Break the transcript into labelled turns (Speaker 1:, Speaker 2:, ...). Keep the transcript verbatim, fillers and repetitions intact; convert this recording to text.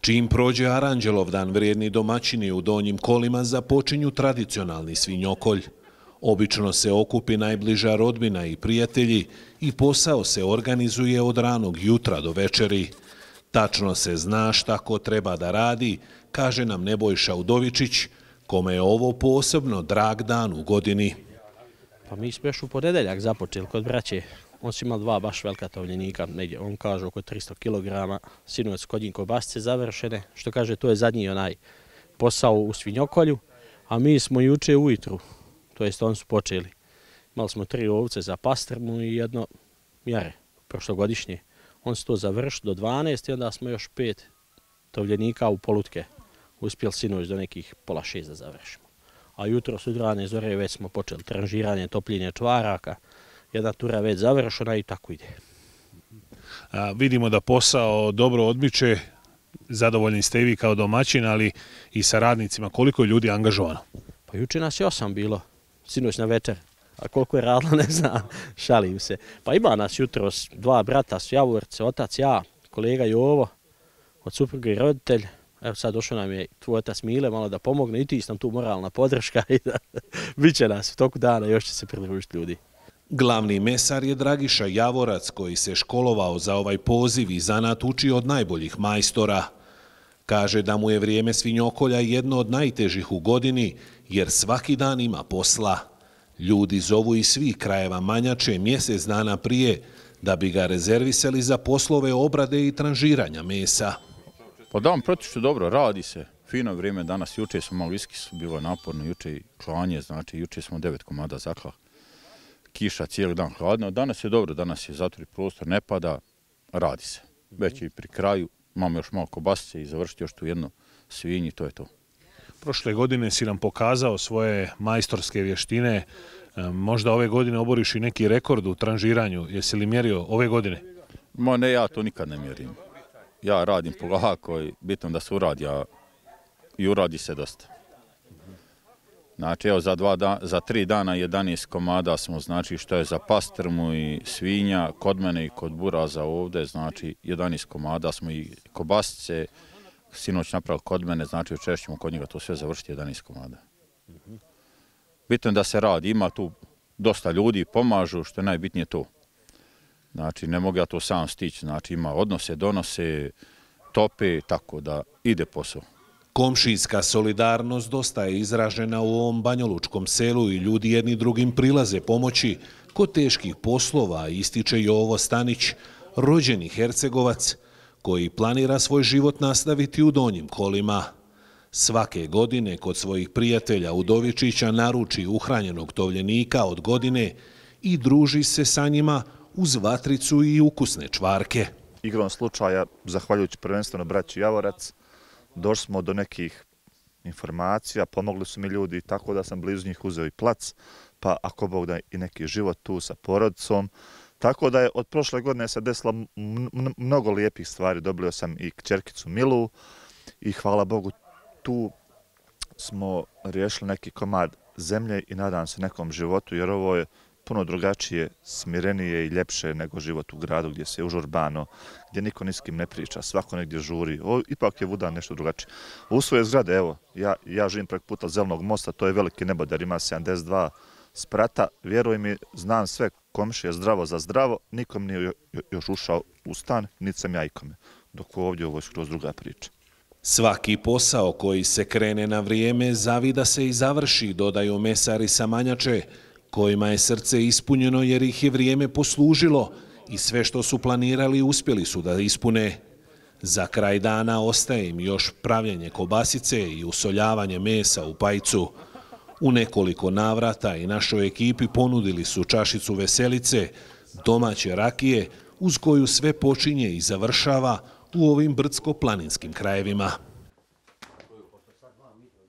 Speaker 1: Čim prođe Aranđelovdan, vrijedni domaćini u Donjim Kolima započinju tradicionalni svinjokolj. Obično se okupi najbliža rodbina i prijatelji i posao se organizuje od ranog jutra do večeri. Tačno se zna šta ko treba da radi, kaže nam Nebojša Udovičić, kome je ovo posebno drag dan u godini.
Speaker 2: Pa mi smo još u ponedeljak započeli kod braće. On su imali dva baš velika tovljenika, negdje, on kaže oko tristo kilograma, sinoć kod njih kobasice završene, što kaže to je zadnji onaj posao u svinjokolju, a mi smo juče ujutru, to jest oni su počeli. Imali smo tri ovce za pastrmu i jedno jare, prošlogodišnje. On su to završili do dvanaest i onda smo još pet tovljenika u polutke uspjeli sinoć do nekih pola šest da završimo. A jutro s udrane zore već smo počeli tranžiranje, topljenje čvaraka, jedna tura već završena i tako ide.
Speaker 3: A, vidimo da posao dobro odmiče, zadovoljni ste i vi kao domaćin, ali i sa radnicima. Koliko je ljudi angažovano?
Speaker 2: Pa juče nas je osam bilo, sinoć na večer. A koliko je radilo, ne znam, šalim se. Pa ima nas jutros dva brata su Javorce, otac, ja, kolega Jovo, od supruge i roditelj. Evo sad došao nam je tvoj otac Mile malo da pomogne i ti sam tu moralna podrška i da bit će nas u toku dana, još će se pridružiti ljudi.
Speaker 1: Glavni mesar je Dragiša Javorac, koji se školovao za ovaj poziv i zanat uči od najboljih majstora. Kaže da mu je vrijeme svinjokolja jedno od najtežih u godini, jer svaki dan ima posla. Ljudi zovu iz svih krajeva Manjače mjesec dana prije da bi ga rezervisali za poslove obrade i tranžiranja mesa.
Speaker 4: Pa dan protiče dobro, radi se. Fino vrijeme danas, juče smo malo iski, bilo naporno, juče i klanje, znači juče smo devet komada zakla. Kiša cijeli dan hladno, danas je dobro, danas je zatvori prostor, ne pada, radi se. Već je i pri kraju, imamo još malo kobasice i završiti još tu jedno svinji, to je to.
Speaker 3: Prošle godine si nam pokazao svoje majstorske vještine, možda ove godine oboriš i neki rekord u tranžiranju, jesi li mjerio ove godine?
Speaker 4: Ma ne, ja to nikad ne mjerim. Ja radim polako i bitno da se uradi, a i uradi se dosta. Znači, evo, za, dva da, za tri dana jedanaest komada smo, znači, što je za pastrmu i svinja, kod mene i kod buraza ovdje, znači, jedanaest komada smo i kobasice, sinoć napravili kod mene, znači, večer ćemo kod njega to sve završiti jedanaest komada. Bitno je da se radi, ima tu dosta ljudi, pomažu, što je najbitnije to. Znači, ne mogu ja to sam stići, znači, ima odnose, donose, tope, tako da ide posao.
Speaker 1: Komšijska solidarnost dosta je izražena u ovom banjolučkom selu i ljudi jedni drugim prilaze pomoći kod teških poslova, ističe Jovo Stanić, rođeni Hercegovac, koji planira svoj život nastaviti u Donjim Kolima. Svake godine kod svojih prijatelja Udovičića naruči uhranjenog tovljenika od godine i druži se sa njima uz vatricu i ukusne čvarke.
Speaker 5: Igrom slučaja, zahvaljujući prvenstveno braći Javorac, došli smo do nekih informacija, pomogli su mi ljudi tako da sam blizu njih uzeo i plac, pa ako Bog da i neki život tu sa porodicom. Tako da je od prošle godine se desilo mnogo lijepih stvari. Dobio sam i kćerkicu Milu i hvala Bogu tu smo riješili neki komad zemlje i nadam se nekom životu, jer ovo je puno drugačije, smirenije i ljepše nego život u gradu gdje se užurbano, gdje niko ni s kim ne priča, svako negdje žuri. O, ipak je Vudan nešto drugačije. U svoje zgrade, evo, ja, ja živim preko puta Zelenog mosta, to je veliki nebodar, ima sedamdeset dva sprata. Vjeruj mi, znam sve komšije zdravo za zdravo, nikom nije još ušao u stan, niti sam ja ikome. Dok ovdje ovo je skroz druga priča.
Speaker 1: Svaki posao koji se krene na vrijeme zavida se i završi, dodaju mesari sa Manjače, kojima je srce ispunjeno jer ih je vrijeme poslužilo i sve što su planirali uspjeli su da ispune. Za kraj dana ostaje im još pravljenje kobasice i usoljavanje mesa u pajcu. U nekoliko navrata i našoj ekipi ponudili su čašicu veselice, domaće rakije, uz koju sve počinje i završava u ovim brdsko-planinskim krajevima.